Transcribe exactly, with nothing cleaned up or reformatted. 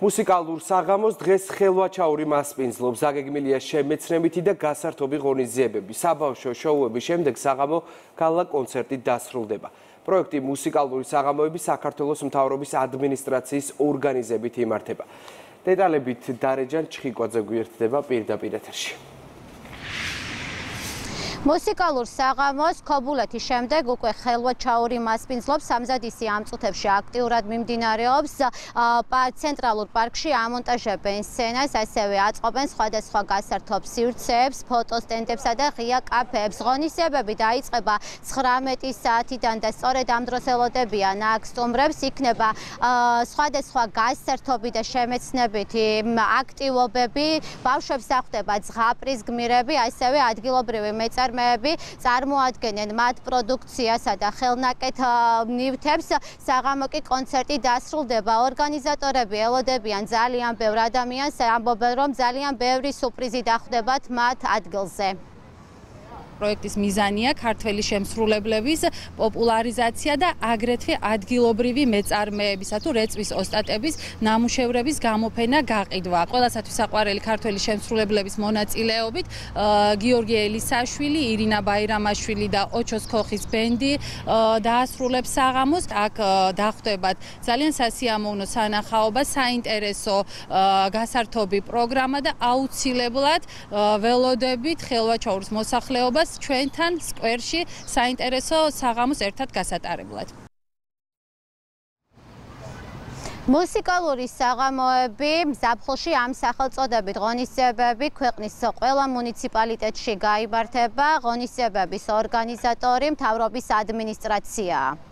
მუსიკალურ საღამოს დღეს ხელვაჩაური მასპინძლობს. აგეგმილია შემეცნებითი და გასართობი ღონისძიებები. საბავშვო შოუების შემდეგ საღამო გალა კონცერტით დასრულდება. პროექტი მუსიკალური საღამოები საქართველოს მთავრობის ადმინისტრაციის ორგანიზებით იმართება. დეტალებით დარეჯან ჩხიკვაძე გვერდდება პირდაპირ ეთერში. მუსიკალურ საღამოს ქობულეთის შემდეგ უკვე ხელვაჩაური მასპინძლობს. სამზადისი ამ წუთებში აქტიურად მიმდინარეობს. ცენტრალურ პარკში ამონტაჟებენ სცენას, ასევე აწყობენ სხვადასხვა გასართობ სივრცეებს, ფოტოსტენდებსა და ღია კაფეებს. ღონისძიებები დაიწყება ცხრამეტი საათიდან და სწორედ ამ დროს ელოდებიან აქ სტუმრებს. იქნება სხვადასხვა გასართობი და შემეცნებითი აქტივობები. ბავშვებს ახვდება ზღაპრის გმირები, ასევე ადგილობრივი მეწარმეები წარმოადგენენ მათ პროდუქციასა და ხელნაკეთ ნივთებს. საღამო კი კონცერტი დასრულდება. ორგანიზატორები ელოდებიან ძალიან ბევრ ადამიანს, ამბობენ, რომ ძალიან ბევრი სურპრიზი დახვდებათ მათ ადგილზე. პროექტის მიზანია ქართველი შემსრულებლების პოპულარიზაცია და აგრეთვე ადგილობრივი მეწარმეებისა თუ რეწვის ოსტატების ნამუშევრების გამოფენა გაყიდვა. ყველასათვის საყვარელი ქართველი შემსრულებლების მონაწილეობით გიორგი ელისაშვილი, ირინა ბაირამაშვილი და ოჩოს ქოხის ბენდი დაასრულებს საღამოს. აქ დახვდებათ ძალიან სასიამოვნო სანახაობა, საინტერესო გასართობი პროგრამა და აუცილებლად ველოდებით ხელვაჩაურის მოსახლეობას ჩვენთან სკვერში საინტერესო საღამოს ერთად გასატარებლად. მუსიკალური საღამოები ზაფხულში ამ სახელწოდებით ღონისძიებები ქვეყნის ყველა მუნიციპალიტეტში გაიმართება. ღონისძიებების ორგანიზატორი მთავრობის ადმინისტრაციაა.